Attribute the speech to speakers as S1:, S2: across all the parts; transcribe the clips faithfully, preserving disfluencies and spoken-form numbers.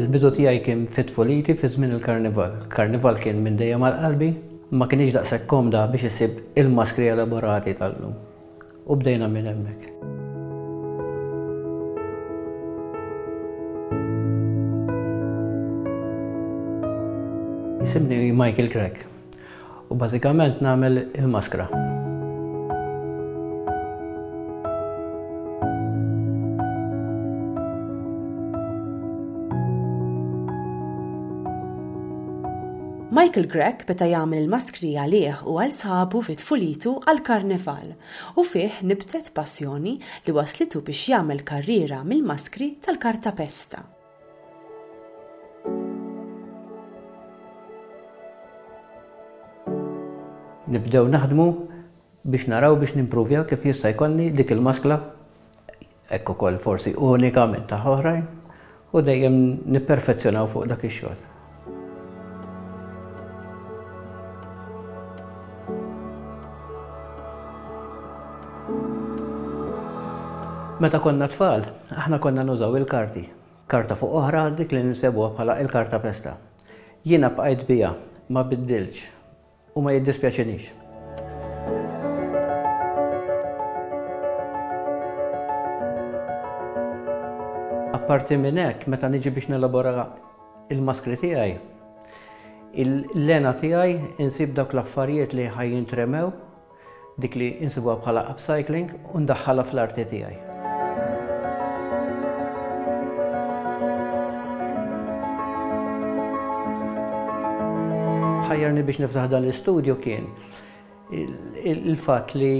S1: Il-bidu tiegħi kien fit-tfuliti fi żmien il-karnival. Karnival kien minn dejjem għal qalbi, ma kienx daqshekk komda biex isib il-maskri elaborati tal-lum. U bdejna minn hemmhekk. Jisimni Michael Grech u bażikament nagħmel il-maskra.
S2: Michael Grech beda jagħmel il-maskri għalih u għal sħabu fi tfulitu għall-karnival u fih nibtet passjoni li waslitu biex jagħmel karriera mill-maskri tal-kartapesta.
S1: Nibdew naħdmu biex naraw biex nimpruvjaw kif jista' jkollni dik il-maskla, hekk ukoll forsi unika minn ta' oħrajn, u dejjem nipperfezzjonaw fuq dak ix-xogħol. Meta konna tfal, aħna konna nużaw il-karti. Karta fuq oħra dik li nsebuha bħala il-karta pesta. Jiena bqajt biha, ma biddilx u ma jiddispjaċinix. Apparti minn hekk, meta niġi biex nelabora il-maskri tiegħi, il-lena tiegħi insib dawk l-affarijiet li ħaj jintremew, dik li insibuha bħala upcycling, u ndaħħalha fl-arti tiegħi. Ħajjarni biex niftaħ dan l-istudju kien il-fatt li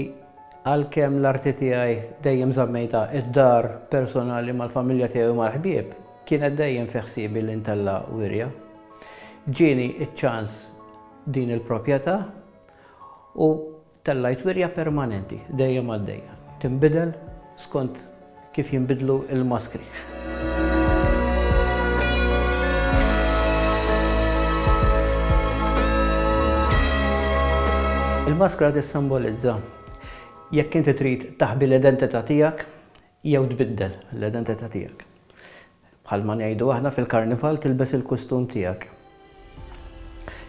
S1: għalkemm l-arti tiegħi dejjem żammejta id-dar personali mal-familja tiegħi u mal-ħbieb, kienet dejjem fi ħsiebi li ntella' wirja. Ġieni ċ-ċans din il-proprjetà u tellajt wirja permanenti, dejjem għaddejja. Tinbidel skont kif jinbidlu il-maskri. Il-maskra tissimbolizza jekk inti trid taħbi l-identità tiegħek jew tbiddel l-identità tiegħek. Bħalma ngħidu aħna fil-karnival tilbes il-kostum tiegħek.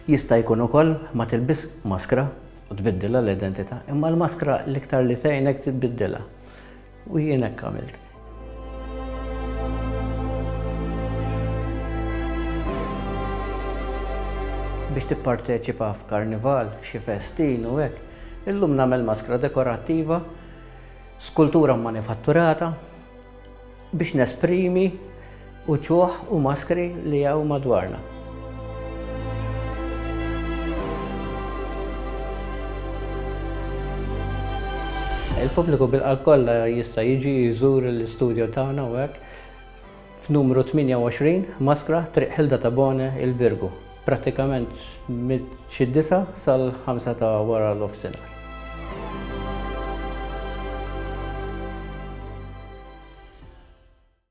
S1: Jista' jkun ukoll ma tilbis maskra u tbiddilha l-identità, imma l-maskra l-iktar li tgħinek tbiddilha. U jien hekk għamilt. Biex tipparteċipa f'karnival, f'xi festin u hekk, illum nagħmel maskra dekorattiva, skultura manifatturata biex nesprimi uċuħ u maskri li hawn madwarna. Il-pubbliku bil-qalb kollha jista' jiġi jżur l-istudju tagħna u hekk f'numru tmienja u għoxrin, Maskra, Triq Hilda Tabone, il-Birgu. Prattikament minn xi disa' sal-ħamsa ta' wara l-offsinar.